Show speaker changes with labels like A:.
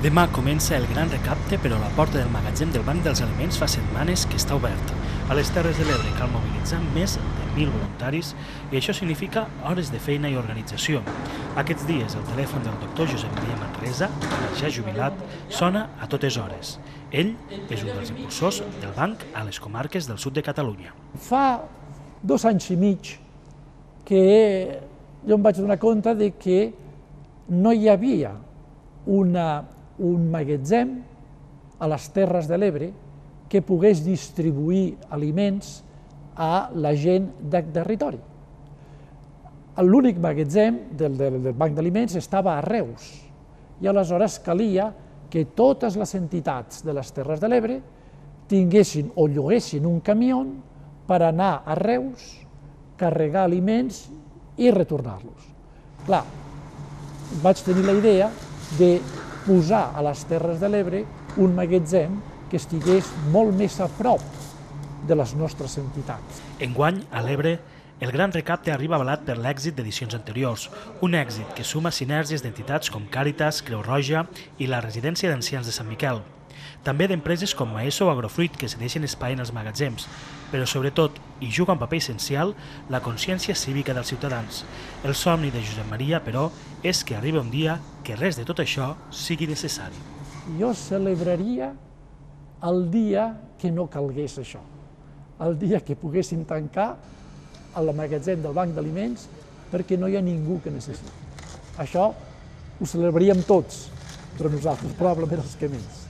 A: Demà comença el gran recapte, però la porta del magatzem del Banc dels Aliments fa setmanes que està obert. A les Terres de l'Ebre cal mobilitzar més de 1.000 voluntaris i això significa hores de feina i organització. Aquests dies el telèfon del doctor Josep Maria Manresa, ja jubilat, sona a totes hores. Ell és un dels impulsors del banc a les comarques del sud de Catalunya.
B: Fa 2 anys i mig que jo em vaig donar compte de que no hi havia un magatzem a les Terres de l'Ebre que pogués distribuir aliments a la gent del territori. L'únic magatzem del Banc d'Aliments estava a Reus i aleshores calia que totes les entitats de les Terres de l'Ebre tinguessin o lloguessin un camió per anar a Reus, carregar aliments i retornar-los. Clar, vaig tenir la idea de posar a les Terres de l'Ebre un magatzem que estigués molt més a prop de les nostres entitats.
A: Enguany, a l'Ebre, el gran recapte arriba avalat per l'èxit d'edicions anteriors, un èxit que suma sinergies d'entitats com Càritas, Creu Roja i la Residència d'Ancians de Sant Miquel. També d'empreses com Maeso o Agrofruit que cedeixen espai en els magatzems, però sobretot, i juga un paper essencial, la consciència cívica dels ciutadans. El somni de Josep Maria, però, és que arribi un dia que res de tot això sigui necessari.
B: Jo celebraria el dia que no calgués això, el dia que poguéssim tancar el magatzem del Banc d'Aliments perquè no hi ha ningú que necessiti. Això ho celebraríem tots, però nosaltres probablement els que més.